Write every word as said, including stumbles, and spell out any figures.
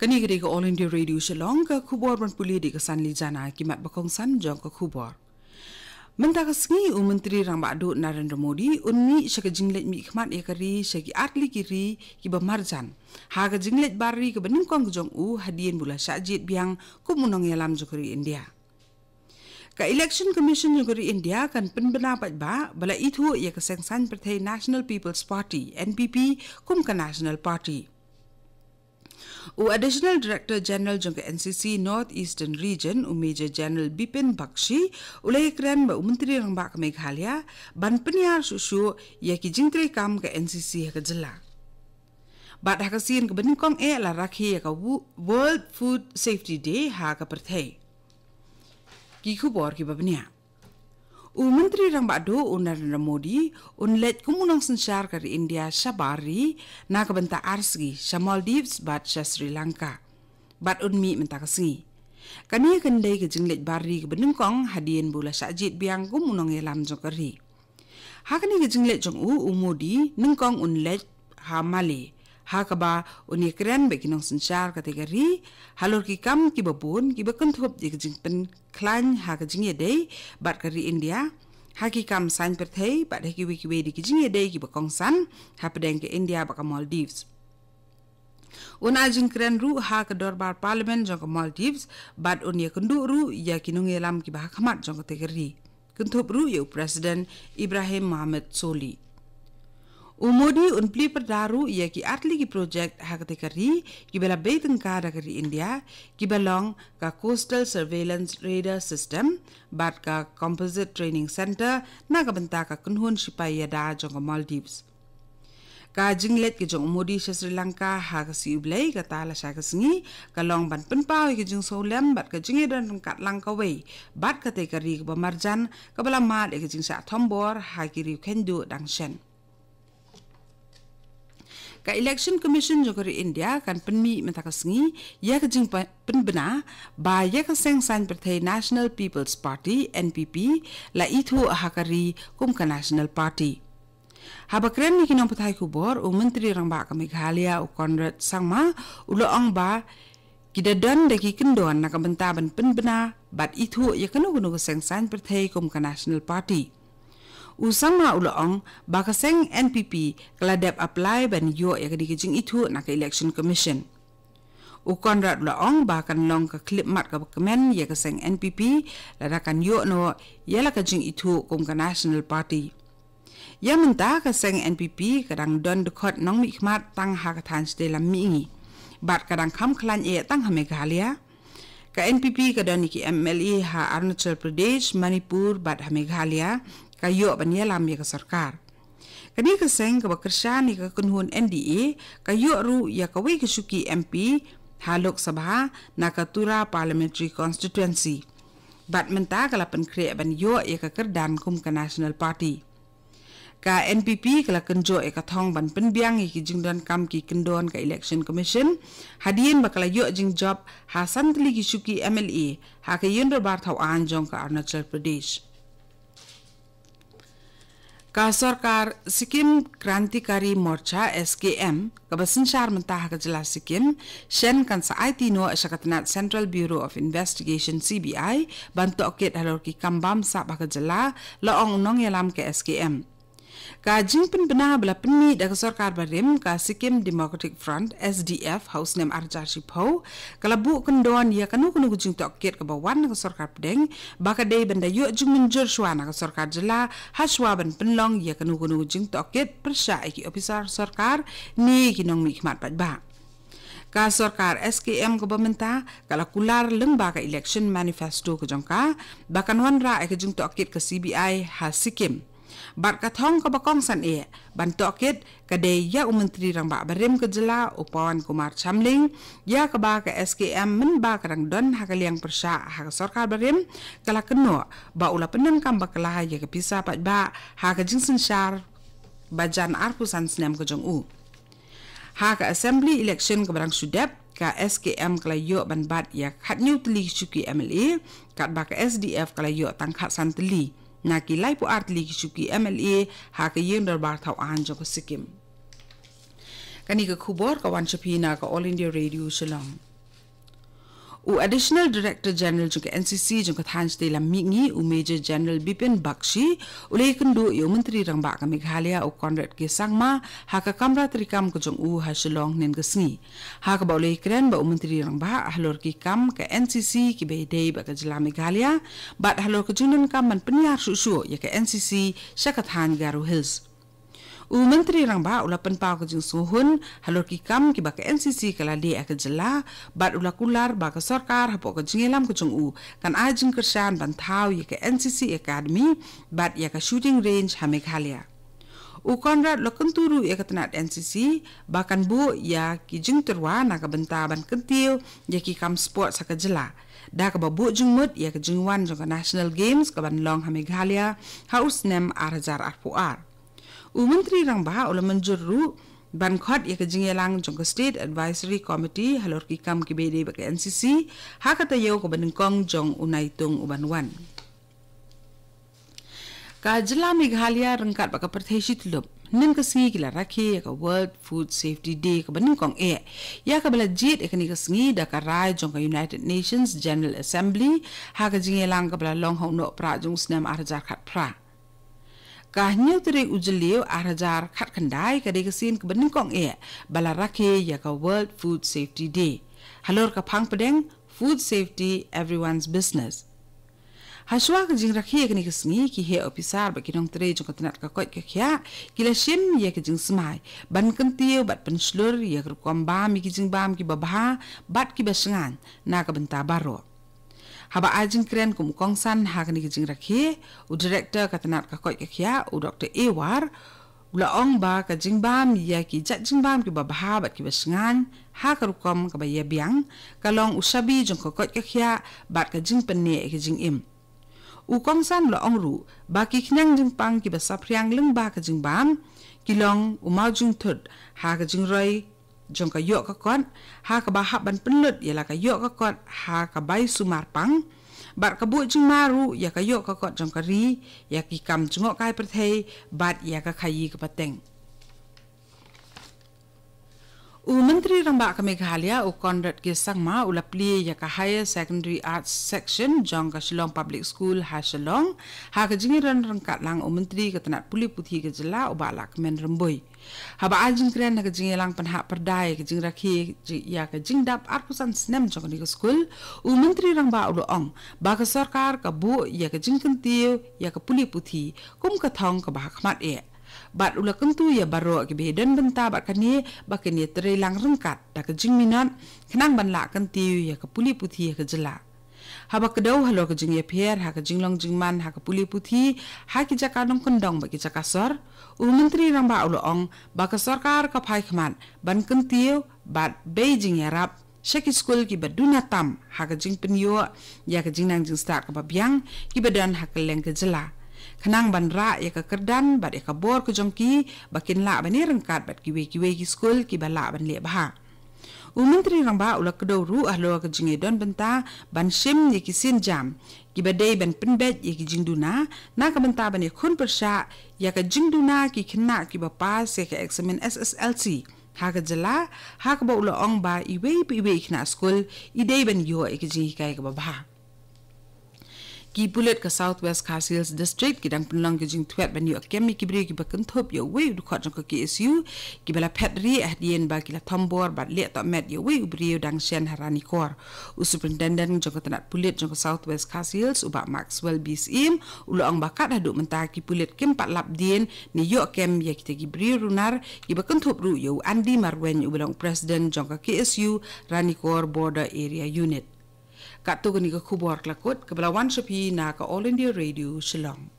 Kane ka dei ka All India Radio Shillong, ka khubor ban pule da ka Sanli Jana. Ki mat ba kongsan jong ka khubor. Mynta ka sngi u Myntri Rangbah Duh Narendra Modi un mih sha ka jingleit mihkhmat ïa ka ri sha ki artylli ki ri kiba marjan ha ka jingleit bar ri kaba nyngkong ka jong u hadien ba u la shah jied biang kum u nongïalam jong ka ri India. Ka Election Commission jong ka ri India kan pynbna paidbah ba la ithuh ïa ka seng saiñ pyrthei National People's Party, N P P, kum ka National Party. U Additional Director General jong ka N C C North Eastern Region, u Major General Bipin Bakshi, u la ïakren bad u Myntri Rangbah ka Meghalaya ban pynïar shuh shuh ïa ki jingtrei kam ka N C C ha ka jylla. Bad ha ka sien kaba nyngkong eh la rakhe ïa ka Wo-, World Food Safety Day ha ka pyrthei. Ki khubor kiba bniah. U Myntri Rangbah Duh u Narendra Modi un leit kum u nongsynshar ka ri India sha bar ri na ka bynta ar sngi, sha Maldives bad sha Sri Lanka. Bad un mih mynta ka sngi. Kane kan dei ka jingleit bar ri kaba nyngkong hadien ba u la shah jied biang kum u nongïalam jong ka ri. Ha kane ka jingleit jong u, u Modi nyngkong un leit ha Malé, ha kaba un ïakren bad ki nongsynshar katei ka ri halor ki kam kiba bun kiba kynthup ïa ka jingpynkhlaiñ ha ka jingïadei bad ka ri India ha ki kam saiñ pyrthei bad ha kiwei kiwei de ki jingïadei kiba kongsan hapdeng ka India bad ka Maldives. Un ai jingkren ruh ha ka dorbar Parliament jong ka Maldives bad un ïakynduh ruh ïa ki nongïalam kiba ha khmat jong katei ka ri, kynthup ruh ïa u President Ibrahim Mohamed Solih. U Modi un plie pyrda ruh ïa ki artylli ki projek ha katei ka ri kiba la bei tyngka da ka ri India, kiba long ka Coastal Surveillance Radar System bad ka Composite Training Centre na ka bynta ka kynhun shipai ïada jong ka Maldives. Ka jingleit ka jong u Modi sha Sri Lanka ha ka sngi U Blei kata lashai ka sngi ka long ban pynpaw ïa ka jingsngewlem bad ka jingïadon ryngkat lang kawei bad katei ka ri kaba marjan kaba la mad ïa ka jingshah thombor ha ki riewkynduh dang shen. Ka Election Commission jong ka ri India kan pynmih mynta ka sngi ïa ka jingpynbna ba ïa ka seng saiñ pyrthei National People's Party, N P P, la ithuh ha ka ri kum ka National Party. Haba kren ïa ki nongpathai khubor, u Myntri Rangbah ka Meghalaya, u Conrad Sangma, u la ong ba ki da don da ki kyndon na ka bynta ban pynbna bad ithuh ïa kano kano ka seng saiñ pyrthei kum ka National Party. U Sangma u la ong ba ka seng N P P ka la dep apply ban ïoh ïa kane ka jingithuh na ka Election Commission. U Conrad u la ong ba kan long ka khyllipmat kaba kmen ïa ka seng N P P lada kan ïoh noh ïa la ka jingithuh kum ka National Party. Ïa mynta ka seng N P P ka dang don dkhot nongmihkhmat tang ha ka thaiñ shatei lam mihngi bad ka dang kham khlaiñ eh tang ha Meghalaya. Ka N P P ka don ïa ki M L A ha Arunachal Pradesh, Manipur bad ha Meghalaya, ka ïoh ban ïalam ïa ka sorkar. Kane ka seng kaba kyrshan ïa ka kynhun N D A ka ïoh ruh ïa kawei ka shuki M P ha Lok Sabha na ka Tura Parliamentary Constituency. Bad mynta ka la pynkhreh ban ïoh ïa ka kyrdan kum ka National Party. Ka N P P ka la kynjoh ïa ka thong ban pynbiang ïa ki jingdonkam ki kyndon ka Election Commission hadien ba ka la ïoh jingjop ha san tylli ki shuki M L A ha ka ïing dorbar thaw aiñ jong ka Arunachal Pradesh. Ka sorkar Sikkim Krantikari Morcha, S K M, kaba synshar mynta ha ka jylla Sikkim shen kan sa aiti noh sha ka tnat Central Bureau of Investigation, C B I, ban tohkit halor ki kam bamsap ha ka jylla, la ong u nongïalam ka S K M. Ka jingpynbna ba la pynmih da ka sorkar barim ka Sikkim Democratic Front, S D F, ha u snem ar hajar shiphew ka la buh kyndon ïa kano kano ka jingtohkit kaba wan na ka sorkar pdeng ba ka dei ban da ïoh jingmynjur shuwa na ka sorkar jylla ha shuwa ban pynlong ïa kano kano ka jingtohkit pyrshah ïa ki ophisar sorkar ne ki nongmihkhmat paidbah. Ka sorkar S K M kaba mynta ka la kular lyngba ka election manifesto ka jong ka ba kan wanrah ïa ka jingtohkit ka C B I ha Sikkim. Bad ka thong kaba kongsan eh ban tohkit ka dei ïa u Myntri Rangbah barim ka jylla u Pawan Kumar Chamling, ïa kaba ka S K M mynba ka dang don ha ka liang pyrshah ha ka sorkar barim ka la kynnoh ba u la pyndonkam bakla ïa ka pisa paidbah ha ka jingsynshar bajan arphew san snem ka jong u. Ha ka Assembly election kaba dang shu dep, ka S K M ka la ïoh ban bat ïa khathynñiew tylli ki shuki M L A, katba ka S D F ka la ïoh tang khatsan tylli na ki laiphew ar tylli ki shuki M L A ha ka ïing dorbar thaw aiñ jong ka Sikkim. Kane ka khubor ka wan sha phi na ka All India Radio Shillong. U Additional Director General jong ka N C C jong ka thaiñ shatei lam mihngi, u Major General Bipin Bakshi, u la ïakynduh ïa u Myntri Rangbah ka Meghalaya, u Conrad K Sangma, ha ka kamra treikam ka jong u ha Shillong hynnin ka sngi. Ha kaba u la ïakren bad u Myntri Rangbah halor ki kam ka N C C kiba ïadei bad ka jylla Meghalaya, bad halor ka jingdonkam ban pynïar shuh shuh ïa ka N C C sha ka thaiñ Garo Hills. U Myntri Rangbah u la pynpaw ka jingsngewhun halor ki kam kiba ka N C C ka la leh ha ka jylla, bad u la kular ba ka sorkar hapoh ka jingïalam ka jong u kan ai jingkyrshan ban thaw ïa ka N C C Academy bad ïa ka shooting range ha Meghalaya. U Conrad u la kyntu ruh ïa ka tnat N C C ba kan buh ïa ki jingtyrwa na ka bynta ban kyntiew ïa ki kam sports ha ka jylla, da kaba buh jingmut ïa ka jingwan jong ka National Games kaban long ha Meghalaya ha u snem ar hajar arphew ar. U Myntri Rangbah u la mynjur ruh ban khot ïa ka jingïalang jong ka State Advisory Committee halor ki kam kiba ïadei bad ka N C C ha ka taïew kaba nyngkong jong u naitung uban wan. Ka jylla Meghalaya ryngkat bad ka pyrthei shityllup hynnin ka sngi ki la rakhe ïa ka World Food Safety Day kaba nyngkong eh, ïa kaba la jied ïa kane ka sngi da ka rai jong ka United Nations General Assembly ha ka jingïalang kaba la long ha u Nohprah jong u snem ar hajar khatphra. Ka hynñiew tarik u Jylliew ar hajar khatkhyndai ka dei ka sien kaba nyngkong eh ba la rakhe ïa ka World Food Safety Day halor ka phang pdeng Food Safety, Everyone's Business. Hashwa ka jingrakhe ïa kane ka sngi, ki heh ophisar bad ki nongtrei jong ka tnat ka koit ka khiah ki la shim ïa ka jingsmai ban kyntiew bad pynshlur ïa ka rukom bam ïa ki jingbam kiba bha bad kiba shngaiñ na ka bynta baroh. Haba ai jingkren kum u kongsan ha kane ka jingrakhe, u Director ka tnat ka koit ka khiah, u Doktor A War, u la ong ba ka jingbam ïa ki jait jingbam kiba bha bad kiba shngaiñ ha ka rukom kaba ïabiang ka long u shabi jong ka koit ka khiah bad ka jingpynneh ïa ka jingim. U kongsan u la ong ruh ba ki khñiang jingpang kiba saphriang lyngba ka jingbam ki long u maw jingthut ha ka jingroi jong ka ïoh ka kot, ha kaba hap ban pynlut ïa la ka ïoh ka kot ha ka bai sumar pang, bad ka buh jingma ruh ïa ka ïoh ka kot jong ka ri, ïa ki kam jngohkai pyrthei bad ïa ka khaïi ka pateng. U Myntri Rangbah ka Meghalaya, u Conrad K Sangma, u la plie ïa ka Higher Secondary Arts Section jong ka Shillong Public School ha Shillong ha ka jingïadon ryngkat lang u Myntri ka tnat pule puthi ka jylla, u Bah Lahkmen Rymbui. Haba ai jingkren ha ka jingïalang pynhap pyrda ïa ka jingrakhe ïa ka jingdap arphew san snem jong kane ka skul, u Myntri Rangbah u la ong ba ka sorkar ka buh ïa ka jingkyntiew ïa ka pule puthi kum ka thong kaba ha khmat eh. Bad u la kyntu ïa baroh kiba ïadon bynta bad kane ba kin ïatreilang ryngkat da ka jingminot khnang ban lah kyntiew ïa ka pule puthi ha ka jylla. Haba kdew halor ka jingïapher ha ka jinglong jingman ha ka pule puthi ha ki jaka nongkyndong bad ki jaka sor, u Myntri Rangbah u la ong ba ka sorkar ka phai khmat ban kyntiew bad bei jingïarap sha ki skul kiba duna tam ha ka jingpynïoh ïa ka jingnang jingstad kaba biang kiba don ha kylleng ka jylla, khnang ban rah ïa ka kyrdan bad ïa ka bor ka jong ki ba kin lah ban ïaryngkat bad kiwei kiwei ki skul kiba lah ban leh bha. U Myntri Rangbah u la kdew ruh halor ka jingïadon bynta ban shim ïa ki sienjam kiba dei ban pynbeit ïa ki jingduna na ka bynta ban ïakhun pyrshah ïa ka jingduna ki khynnah kiba pass ïa ka eksamin S S L C ha ka jylla, ha kaba u la ong ba iwei pa iwei i khynnah skul i dei ban ïoh ïa ka jinghikai kaba bha. Ki pulit ka South West Khasi Hills District ki dang pynlong ka jingthwet ban ïoh kem ïa ki briew kiba kynthup ïa uwei u dkhot jong ka K S U kiba la phet rieh hadien ba ki la thombor bad leh tohmet ïa uwei u briew dang shen ha Ranikor. U Superintendent jong ka tnat pulit jong ka South West Khasi Hills, u Bah Maxwell B Syiem, u la ong ba kat haduh mynta ki pulit kim pat lap dien ne ïoh kem ïa kita ki briew runar kiba kynthup ruh ïa u Andy Marwein uba long u President jong ka K S U Ranikor Border Area Unit. Katto katne ka khubor ka la kut kaba la wan sha phi na ka All India Radio Shillong.